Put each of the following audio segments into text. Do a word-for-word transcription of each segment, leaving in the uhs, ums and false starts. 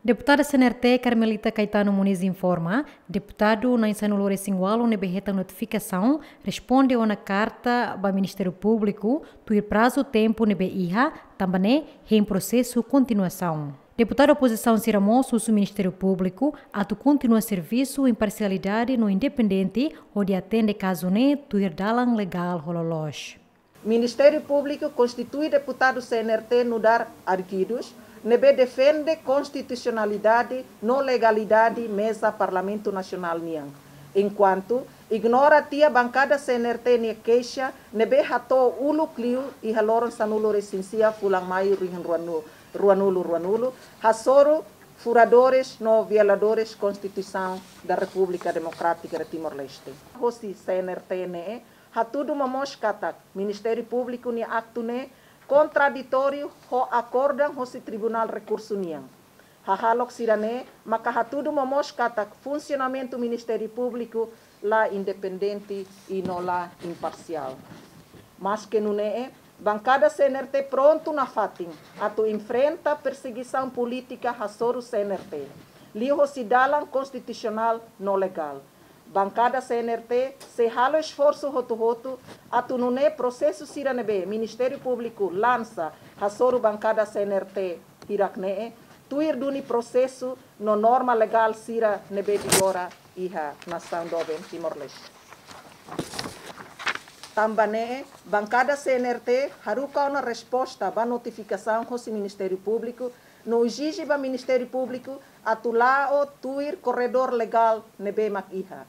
Deputada C N R T Carmelita Caetano Moniz informa, deputadu na'in-sanulu-resin-ualu ne'ebé hetan notifikasaun responde ona karta ba Ministériu Públiku tuir prazu tempu ne'ebé iha, tanba ne'e hein prosesu kontinuasaun. Deputadu opozisaun sira mós husu Ministériu Públiku atu kontinua servisu imparsialidade no independente hodi atende kazu ne'e tuir dalan legál ho loloos. Ministériu Públiku konstitui deputadu C N R T nu'udar arguidus ne'ebé defende konstitusionalidade no legalidade meza Parlamentu Nasionál nian. Enkuantu ignora tiha bankada C N R T nia keixa ne'ebé hato'o uluk liu iha loron sanulu-resin-sia fulan Maiu rihun ruanu-, ruanulu-ruanulu, hasoru furadores no violadores Konstituisaun da Repúblika Demokrátika de Timor-Leste. Hosi C N R T ne'e hatudu momoos katak Ministériu Públiku nia aktu ne'e kontraditóriu ho akordan hosi Tribunál Rekursu nian. Hahalok sira-ne'e maka hatudu momoos katak funsionamentu Ministériu Públiku la independente i no la imparsiál. Maske nune'e, bankada C N R T prontu nafatin atu enfrenta persegisaun polítika hasoru C N R T liuhosi dalan konstitusionál no legál. Bankada C N R T sei halo esforsu hotu-hotu atu nune'e prosesu sira ne'ebé Ministériu Públiku lansa hasoru bankada C N R T hirak-ne'e tuir duni prosesu no norma legál sira ne'ebé vigora iha nasaun doben Timor-Leste. Tanba ne'e, bankada C N R T haruka ona resposta ba notifikasaun hosi Ministériu Públiku no ezije ba Ministériu Públiku atu la'o tuir korredór legál ne'ebé mak iha.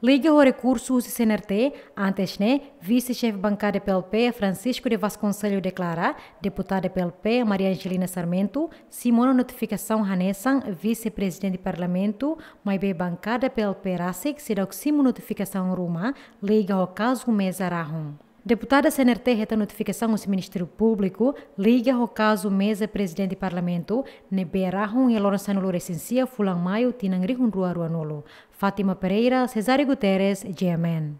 Liga ho rekursu husi C N R T, antes ne'e, vise-xefe bankada P L P, Francisco de Vasconcelos deklara, deputada P L P, Maria Angelina Sarmento, simu ona notifikasaun hanesan vise-prezidente Parlamentu, maibé bankada P L P rasik seidauk simu notifikasaun ruma liga ho kazu meza rahun. Deputada C N R T hetan notifikasaun husi Ministériu Públiku liga ho kazu meza prezidente Parlamentu ne'ebé rahun iha loron sanulu-resin-sia fulan Maiu tinan rihun rua ruanulu. Fátima Pereira, Cesário Guterres, G M N.